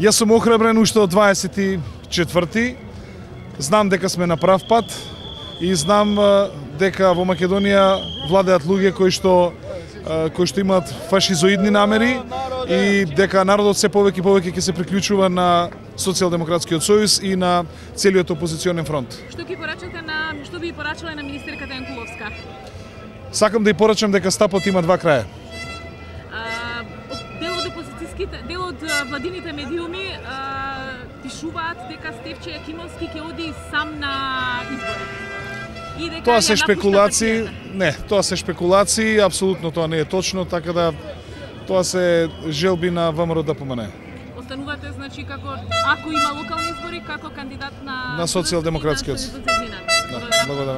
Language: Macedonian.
Јас сум охрабрен уште од 24-ти. Знам дека сме на прав пат и знам дека во Македонија владеат луѓе кои што имаат фашизоидни намери и дека народот се повеќе и повеќе ќе се приклучува на Социјалдемократскиот сојуз и на целиот опозиционен фронт. Што би порачале на министерката Јанкуловска? Сакам да ја порачам дека стапот има два краја. Дел од владините медиуми пишуваат дека Стефче Јакимовски ќе оди сам на избори. Тоа се шпекулации, не, тоа се шпекулации, апсолутно тоа не е точно, така да тоа се желби на ВМРО ДПМН. Останувате, значи, ако има локални избори, како кандидат на Социјалдемократскиот. Благодарам.